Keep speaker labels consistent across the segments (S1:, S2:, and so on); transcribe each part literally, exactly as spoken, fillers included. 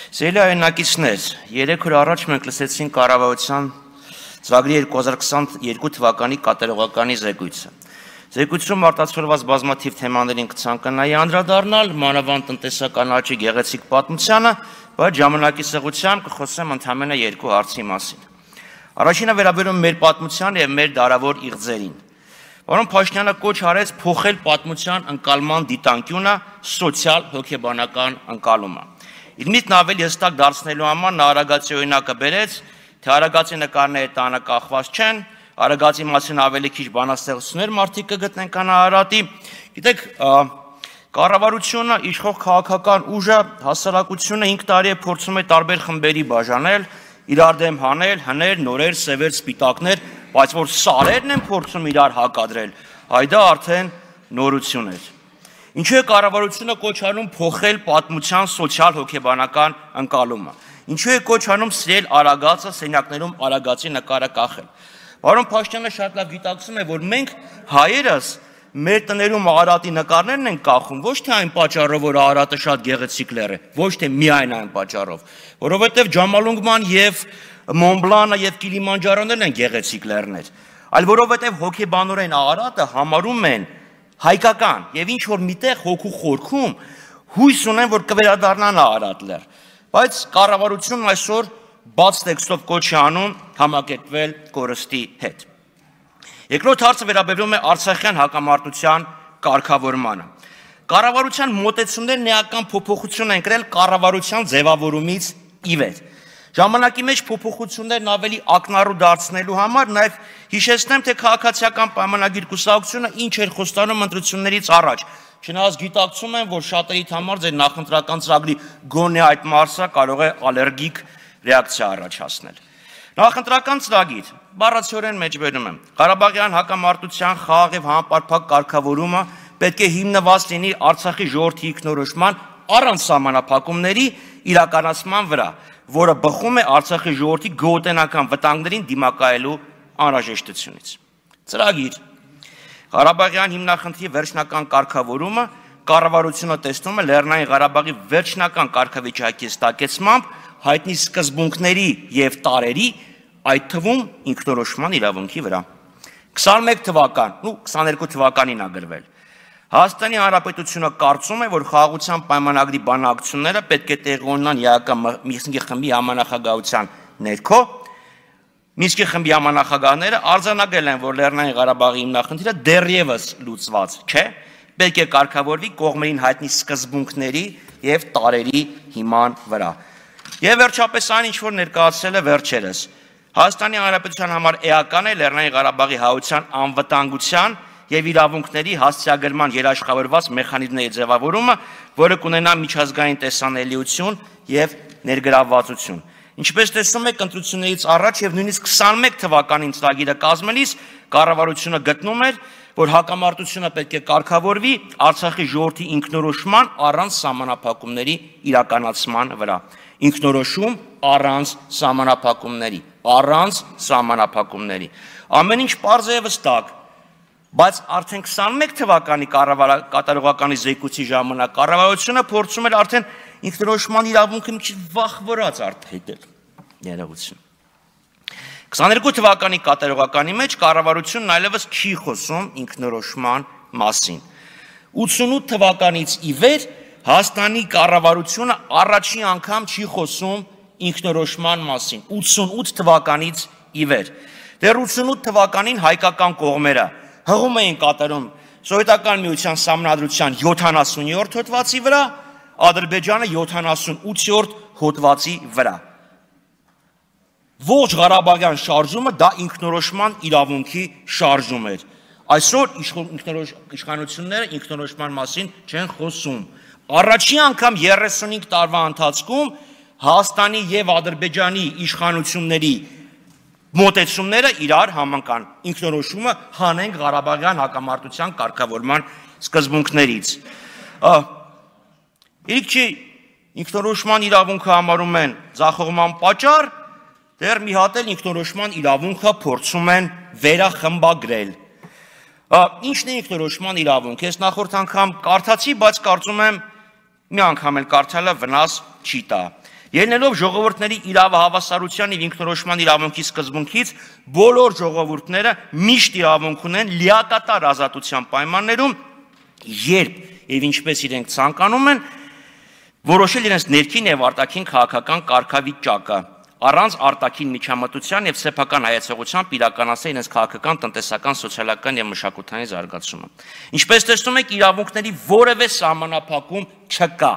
S1: Սիրելի հայրենակիցներ, երեք օր առաջ մենք լսեցինք կառավարության ծրագրի երկու հազար քսաներկու թվականի կատարողականի զեկույցը։ Զեկույցում արտացոլված բազմաթիվ թեմաներին կցանկանայի անդրադառնալ, մանավանդ տնտեսական աճի գեղեցիկ պատմությանը, բայց ժամանակի սղությամբ կխոսեմ ընդամենը երկու հարցի մասին։ Առաջինը վերաբերում մեր պատմության եւ մեր դարավոր իղձերին։ Պարոն Փաշինյանը կոչ արեց փոխել պատմության ընկալման դիտանկյունը սոցիալ հոգեբանական ընկալումը։ Իր միտքն ավելի հստակ դարձնելու համար նա Արագածի օրինակը բերեց, թե Արագածի նկարները տանը կախված չեն, Արագածի մասին ավելի քիչ բանաստեղծություններ մարդիկ կգտնեն, քան Արարատի։ Գիտեք, կառավարությունը, իշխող քաղաքական ուժը, հասարակությունը հինգ տարի է փորձում է տարբեր խմբերի բաժանել, իրար դեմ հանել, հներ, նորեր, սևեր, սպիտակներ, բայց որ սարերն են փորձում իրար հակադրել, այ դա արդեն նորություն էր։ Ինչու է կառավարությունը կոչ անում փոխել պատմության սոցիալ հոգեբանական ընկալումը։ Ինչու է կոչ անում սիրել Արագածը, սենյակներում Արագածի նկարը կախել։ Պարոն Փաշինյանը շատ լավ գիտակցում է, որ մենք հայերս մեր տներում Արարատի նկարներն են կախում, ոչ թե այն պատճառով, որ Արարատը շատ գեղեցիկ լեռ է, ոչ թե միայն այն պատճառով, որովհետև Ջամալունգման եւ Մոնբլանը եւ Կիլիմանջարոներն են գեղեցիկ լեռներ, այլ որովհետև հոգեբանորեն Արարատը համարում են հայկական եւ ինչ որ միտեղ հոգու խորքում հույս ունեն, որ կվերադառնան Արարատ լեռ, բայց կառավարությունն այսօր բաց տեքստով կոչ է անում համակերպվել կորստի հետ։ Երկրորդ հարցը վերաբերում է Արցախյան հակամարտության կարգավորմանը։ Կառավարության մոտեցումներն էական փոփոխություն են կրել կառավարության ձևավորումից ի վեր։ Ժամանակի մեջ փոփոխություններն ավելի ակնառու դարձնելու համար նաև հիշեցնեմ, թե քաղաքացիական պայմանագիր կուսակցությունը ինչ էր խոստանում ընտրություններից առաջ։ Չնայած գիտակցում եմ, որ շատերիդ համար ձեր նախընտրական ծրագրի գոնե այդ մարսը կարող է ալերգիկ ռեակցիա առաջացնել։ Նախընտրական ծրագիր, բառացիորեն մեջբերում եմ, Ղարաբաղյան հակամարտության խաղաղ եւ համապարփակ կարգավորումը պետք է հիմնված լինի Արցախի ժողովրդի ինքնորոշման առանց սահմանափակումների իրականացման վրա, որը բխում է Արցախի ժողովրդի գոհուտենական վտանգներին դիմակայելու անհրաժեշտությունից։ Ծրագիր Ղարաբաղյան հիմնախնդրի վերջնական կարգավորումը կառավարությունը տեսնում է Լեռնային Ղարաբաղի վերջնական կարգավիճակի ստակեցմամբ հայտնի սկզբունքների եւ տարերի, այդ թվում ինքնորոշման իրավունքի վրա։ քսաներկու թվական, ու քսաներկու թվականին ագրվել։ Հայաստանի Հանրապետությունը կարծում է, որ խաղաղության պայմանագրի բանակցությունները պետք է տեղի ունենան Մինսկի խմբի համանախագահության ներքո։ Մինսկի խմբի համանախագահները արձանագրել են, որ Լեռնային Ղարաբաղի հիմնախնդիրը դեռևս լուծված չէ, պետք է կարգավորվի կողմերին հայտնի սկզբունքների եւ տարերի հիման վրա։ Եվ վերջապես այն, ինչ որ ներկայացել է վերջերս։ Հայաստանի Հանրապետության համար էական է Լեռնային Ղարաբաղի հայության անվտանգության եւ իրավունքների հասցեագրման երաշխավորված մեխանիզմների ձևավորումը, որը կունենա միջազգային տեսանելիություն եւ ներգրավվածություն։ Ինչպես տեսնում եք, ընտրություններից առաջ եւ նույնիսկ քսաներկու թվականին ծրագիրը կազմելիս կառավարությունը գտնում էր, որ հակամարտությունը պետք է կարգավորվի Արցախի ժողովրդի ինքնորոշման առանց սահմանափակումների իրականացման վրա։ Ինքնորոշում առանց սահմանափակումների, առանց սահմանափակումների։ Ամեն ինչ պարզ է վստահ, բայց արդեն քսաներկու թվականի կատարողականի զեկույցի ժամանակ կառավարությունը փորձում էր արդեն ինքնորոշման իրավունքը մի քիչ վախվորած արտահայտել ներողություն։ քսաներկու թվականի կատարողականի մեջ կառավարությունն այլևս չի խոսում ինքնորոշման մասին։ ութսունութ թվականից ի վեր Հայաստանի կառավարությունը առաջին անգամ չի խոսում ինքնորոշման մասին, ութսունութ թվականից ի վեր։ Դեռ ութսունութ թվականին հայկական կողմերը հղում էին կատարում Սովետական միության սահմանադրության յոթանասունյորդ հոդվածի վրա, Ադրբեջանը յոթանասունութերորդ հոդվածի վրա։ Ողջ Ղարաբաղյան շարժումը դա ինքնորոշման իրավունքի շարժում էր։ Այսօր իշխանությունները ինքնորոշման մասին չեն խոսում։ Առաջին անգամ երեսունհինգ տարվա ընթացքում Հայաստանի եւ Ադրբեջանի իշխանությունների մոտեցումները իրար համընկան։ Ինքնորոշումը հանենք Ղարաբաղյան հակամարտության կարգավորման սկզբունքներից։ Իրիք չի ինքնորոշման իրավունքը համարում են ձախողման պատճառ, դեռ մի հատ էլ ինքնորոշման իրավունքը փորձում են վերախմբագրել։ Ինչն է ինքնորոշման իրավունք։ Ես նախորդ անգամ կարդացի, բայց կարծում եմ մի անգամ էլ կարդալը վնաս չի տա։ Ելնելով ժողովուրդների իրավահավասարության եւ ինքնորոշման իրավունքի սկզբունքից, բոլոր ժողովուրդները միշտ իրավունք ունեն լիակատար ազատության պայմաններում, երբ եւ ինչպես իրենք ցանկանում են, որոշել իրենց ներքին եւ արտաքին քաղաքական կարգավիճակը, առանց արտաքին միջամտության եւ սեփական հայեցողությամբ իրականացնել իրենց քաղաքական, տնտեսական, սոցիալական եւ մշակութային զարգացումը։ Ինչպես տեսնում եք, իրավունքների որևէ սահմանափակում չկա։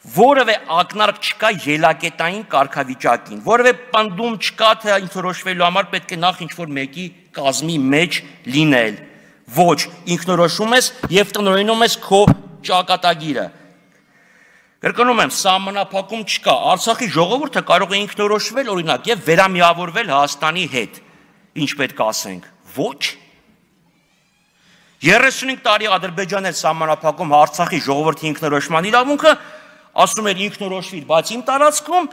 S1: Որևէ ակնարկ չկա ելակետային կարգավիճակին, որևէ պնդում չկա, թե ինքնորոշվելու համար պետք է նախ ինչ-որ մեկի կազմի մեջ լինել։ Ոչ, ինքնորոշում ես եւ տնօրինում ես քո ճակատագիրը։ Կրկնում եմ, սահմանափակում չկա։ Արցախի ժողովուրդը կարող է ինքնորոշվել, օրինակ, եւ վերամիավորվել Հայաստանի հետ։ Ինչ պետք է ասենք։ Ոչ։ երեսունհինգ տարի Ադրբեջանն էր սահմանափակում Արցախի ժողովրդի ինքնորոշման իրավունքը, ասում էր ինքնորոշվիր, բայց իմ տարածքում,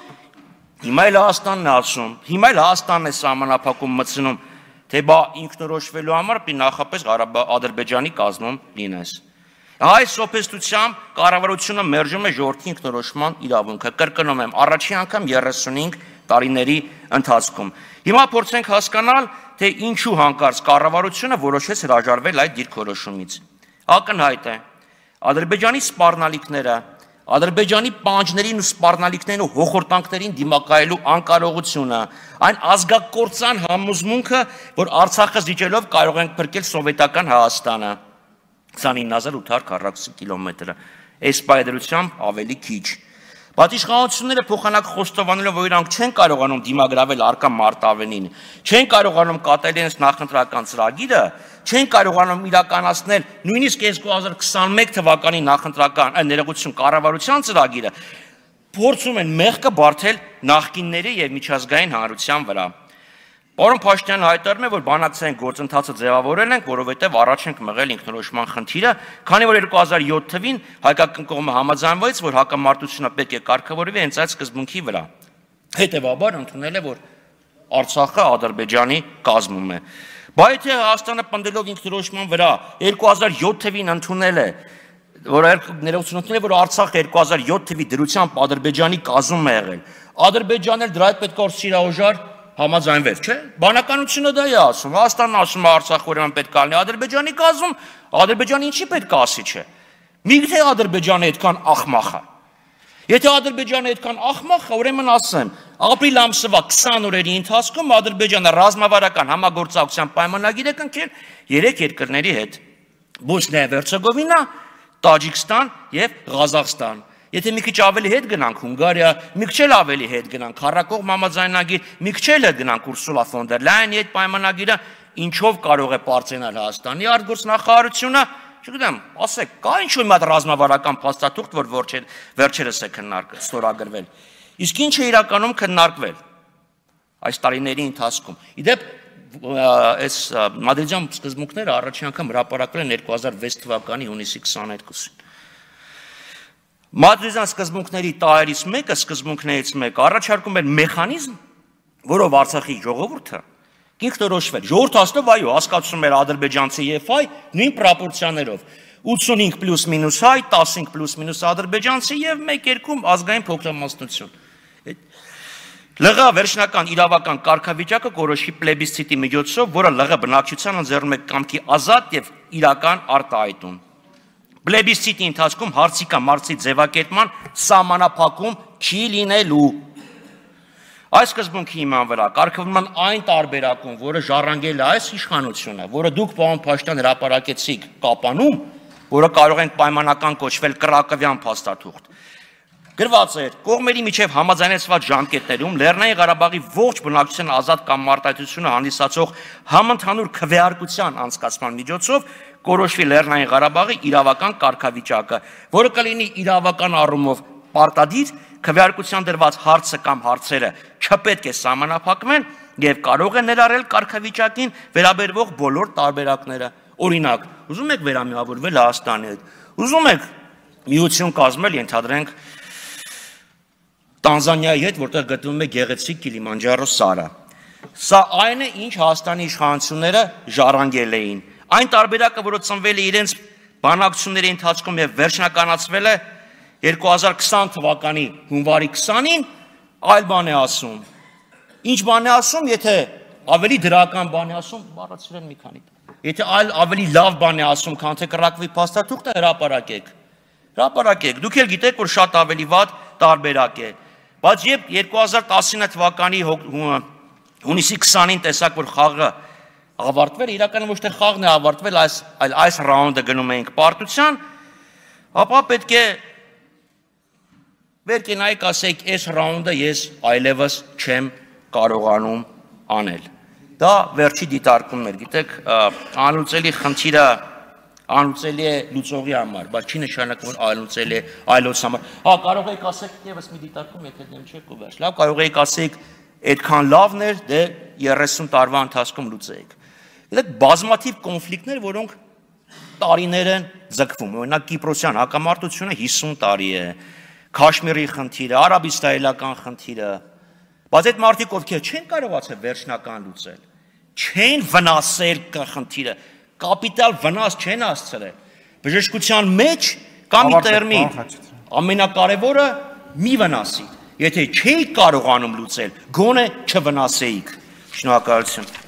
S1: հիմա էլ Հայաստանն է ասում, հիմա էլ Հայաստանն է սահմանափակում մտցնում, թե բա ինքնորոշվելու համար պիտի նախապես Ադրբեջանի կազմում լինես։ Այս սոփեստությամբ կառավարությունը մերժում է ժողովրդի ինքնորոշման իրավունքը, կրկնում եմ, առաջին անգամ երեսունհինգ տարիների ընթացքում։ Հիմա փորձենք հասկանալ, թե ինչու հանկարծ կառավարությունը որոշեց հրաժարվել այդ դիրքորոշումից։ Ակնհայտ է, Ադրբեջանի սպառնալիքները, Ադրբեջանի պահանջներին ու սպառնալիքներին ու հոխորտանքներին դիմակայելու անկարողությունը, այն ազգակործան համոզմունքը, որ Արցախը զիջելով կարող ենք փրկել սովետական Հայաստանը, քսանինը հազար ութ հարյուր քառակուսի կիլոմետրը, այս պայդրությամբ ավելի քիչ։ Պատիշխանությունները փոխանակ խոստովանելով, որ իրանք չեն կարողանում դիմագրավել արկա մարտավենին, չեն կարողանում կատարել իրենց նախընտրական ծրագիրը, չեն կարողանում իրականացնել նույնիսկ երկու հազար քսանմեկ թվականի նախընտրական ներողություն կառավարության ծրագիրը, փորձում են մեղքը բարթել նախկինների եւ միջազգային հանրության վրա։ Պարոն Փաշինյանը հայտարարում է, որ բանակցային գործընթացը ձևավորել ենք, որովհետև առաջ ենք մղել ինքնորոշման խնդիրը, քանի որ երկու հազար յոթ թվականին հայկական կողմը համաձայնվեց, որ հակամարտությունը պետք է կարգավորվի հենց այդ սկզբունքի վրա։ Հետևաբար ընդունել է, որ Արցախը Ադրբեջանի կազմում է։ Բայց եթե Հայաստանը պնդելով ինքնորոշման վրա երկու հազար յոթ թվականին ընդունել է, որ ներողություն է, որ Արցախը երկու հազար յոթ թվականի դրությամբ Ադրբեջանի կազմում է եղել, Ադրբեջանն էլ դրա հետ պետք է որ սիրահոժար համաձայնվեց, չէ՞։ Բանականությունը դա է ասում, Հայաստանն ասում է Արցախը ուրեմն պետք է լինի Ադրբեջանի կազմում, Ադրբեջանը ինչի պետք է ասի, չէ։ Միգուցե Ադրբեջանը այդքան ախմախ է։ Եթե Ադրբեջանը այդքան ախմախ է, ուրեմն ասեմ, ապրիլ ամսվա քսան օրերի ընթացքում Ադրբեջանը ռազմավարական համագործակցության պայմանագիր է կնքել երեք երկրների հետ՝ Բոսնիա եւ Հերցեգովինա, Տաջիկստան եւ Ղազախստան։ Եթե մի քիչ ավելի հետ գնանք Հունգարիա, մի քիչ էլ ավելի հետ գնանք քառակողմ համաձայնագիր, մի քիչ էլ հետ գնանք Ուրսուլա ֆոն դեր Լայենի այդ պայմանագիրը, ինչով կարող է պարծենալ Հայաստանի արտգործնախարարությունը, չգիտեմ, ասեք, կա ինչ-որ մի հատ ռազմավարական փաստաթուղթ, որ վերջերս է քննարկվել, ստորագրվել։ Իսկ ինչ է իրականում քննարկվել այս տարիների ընթացքում։ Իդեպ այս մադրիդյան սկզբունքները առաջին անգամ հրապարակվել են երկու հազար վեց թվականի հունիսի քսաներկուսին։ Մադրիդյան սկզբունքների տարերից մեկը, սկզբունքներից մեկը առաջարկում էր մեխանիզմ, որով Արցախի ժողովուրդը ինքնորոշվել։ Ժողովուրդը ասելով, այո, հասկացում էր ադրբեջանցի եւ հայ նույն պրոպորցիաներով։ ութսունհինգ պլյուս մինուս հայ, տասնհինգ պլյուս մինուս ադրբեջանցի եւ մեկ-երկում ազգային փոքրամասնություն։ ԼՂ վերջնական իրավական կարգավիճակը կորոշի պլեբիսցիտի միջոցով, որը ԼՂ բնակչությանը ձեռնում է կամքի ազատ եւ իրական արտահայտում։ Պլեբիսցիտի ընթացքում հարցի կամ հարցի ձևակերպման սահմանափակում չի լինելու։ Այս սկզբունքի հիման վրա կարգավորման այն տարբերակում, որը ժառանգել է այս իշխանությունը, որը դուք պարոն Փաշինյան հրապարակեցիք կապանում, որը կարող են պայմանական կոչվել կրակովյան փաստաթուղթ, գրված էր կողմերի միջև համաձայնեցված ժամկետներում Լեռնային Ղարաբաղի ողջ բնակչության ազատ կամ մարտահայտությունը հանդիսացող համընդհանուր քվեարկության անցկացման միջոցով կորոշվի Լեռնային Ղարաբաղի իրավական կարգավիճակը, որը կլինի իրավական առումով պարտադիր, քվեարկության դրված հարցը կամ հարցերը չպետք է սահմանափակվեն եւ կարող է ներառել կարգավիճակին վերաբերվող բոլոր տարբերակները։ Օրինակ, ուզում եք վերամիավորվել Հայաստանի հետ, ուզում եք միություն կազմել, ենթադրենք Տանզանիայի հետ, որտեղ գտնվում է գեղեցիկ Կիլիմանջարո սարը։ Սա այն է, ինչ Հայաստանի իշխանությունները ժառանգել էին։ Այն տարբերակը, որը ծնվել է իրենց բանակցությունների ընթացքում եւ վերջնականացվել է երկու հազար քսան թվականի հունվարի քսանին այլ բան է ասում։ Ինչ բան է ասում, եթե ավելի դրական բան է ասում, բառացրել մի քանի։ Եթե այլ ավելի լավ բան է ասում, քան թե կրակվի փաստաթուղթը, հրապարակեք։ Հրապարակեք։ Դուք էլ գիտեք, որ շատ ավելի վատ տարբերակ է։ Բայց երբ երկու հազար տասնինը թվականի հունիսի քսանին տեսակ, որ խաղը ավարտվել, իրականում ոչ թե խաղն է ավարտվել, այլ այս ռաունդը գնում էինք պարտության, ապա պետք է վեր կենայիք ասեք, այս ռաունդը ես այլևս չեմ կարողանում անել։ Դա վերջի դիտարկումն էր, գիտեք, անլուծելի խնդիրը անլուծելի է լուծողի համար, բայց չի նշանակում, որ անլուծելի է այլոց համար։ Հա, կարող եք ասեք ևս մի դիտարկում, եթե դեմ չեք ու վերջ։ Լավ, կարող եք ասեք, այդքան լավն էր, դե երեսուն տարվա ընթացքում լուծեիք։ Գիտեք, բազմաթիվ կոնֆլիկտներ, որոնք տարիներ են ձգվում։ Օրինակ Կիպրոսյան հակամարտությունը հիսուն տարի է, Քաշմիրի խնդիրը, արաբ-իսրայելական խնդիրը, բայց այդ մարդիկ ովքեր չեն կարողացել վերջնական լուծել, չեն վնասել խնդիրը, կապիտալ վնաս չեն հասցրել։ Բժշկության մեջ կա մի տերմին, ամենակարևորը մի վնասի։ Եթե չէիք կարողանում լուծել, գոնե չվնասեիք։ Շնորհակալություն։